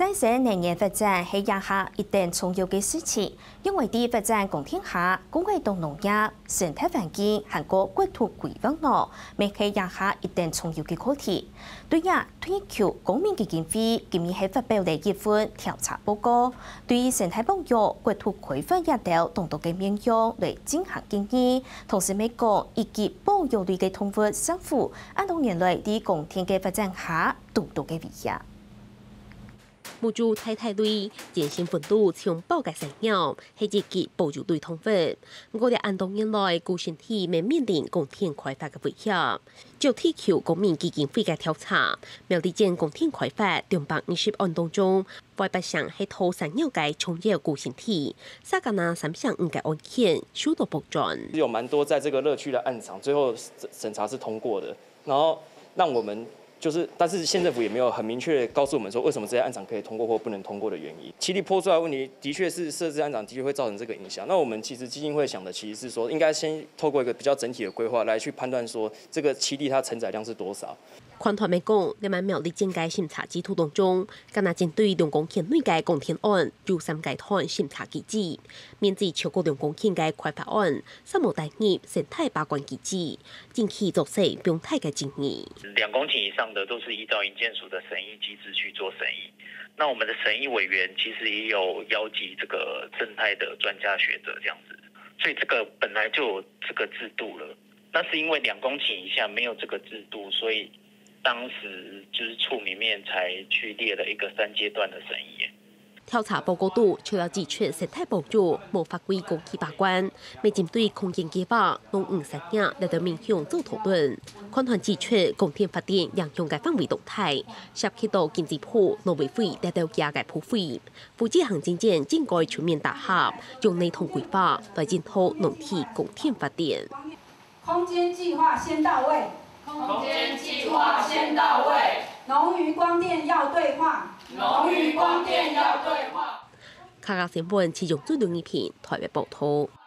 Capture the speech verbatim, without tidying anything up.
再生能源發展係這下一等重要个事情，因為在發展光電下，顧愛到農業、生態環境還過國土規劃呢，乜係這下一等重要个課題。對這，退休公民基金會今日係發表了一份調查報告，對生態保育、國土規劃這兜當多个面向來進行建議，同時乜講，一級保育類个動物石虎，恁多年來在光電个發展下，堵著个威脅。 目珠大大類，全身紋路像豹个山鳥，係一級保育類動物。毋過，這恁多年來，佢身體乜面臨光電開發个威脅。照退休公民基金會个調查，苗栗縣光電開發兩百二十案當中，外八成係討山鳥个重要佢身體，嗄加拿三成五个案件受到保全。有蠻多在這個樂趣的案場，最後審查是通過的，然後讓我們就是，但是縣政府也沒有很明確地告訴我們說，為什麼這些案場可以通過或不能通過的原因。棲地坡出來的問題，的確是設置案場的確會造成這個影響。那我們其實基金會想的其實是說，應該先透過一個比較整體的規劃來去判斷說，這個棲地它承載量是多少。 環團乜講，這滿苗栗縣个審查制度當中，干焦針對兩公頃內个光電案有三階段審查機制，面積超過兩公頃个開發案，煞無納入生態把關機制，引起作勢放大个爭議。兩公頃以上的都是依照營建署的審議機制去做審議。那我們的審議委員其實也有邀集這個生態的專家學者這樣子，所以這個本來就有這個制度了。那是因為兩公頃以下沒有這個制度，所以當時就是處裡面才去列了一個三階段的審議。 調查報告肚除了指出生態保育無法規公去把關，乜針對空間計畫、農漁產業這兜面向做討論。環團指出，光電發電影響个範圍當大，涉及到經濟部、農委會這兜額个部會。負責行政院應該全面打合，用系統規劃來引導農地光電發電。 空間計畫先到位，空間計畫先到位，農漁光電要對話，農漁光電要對話。客家新聞，七中準六二平，台北報導。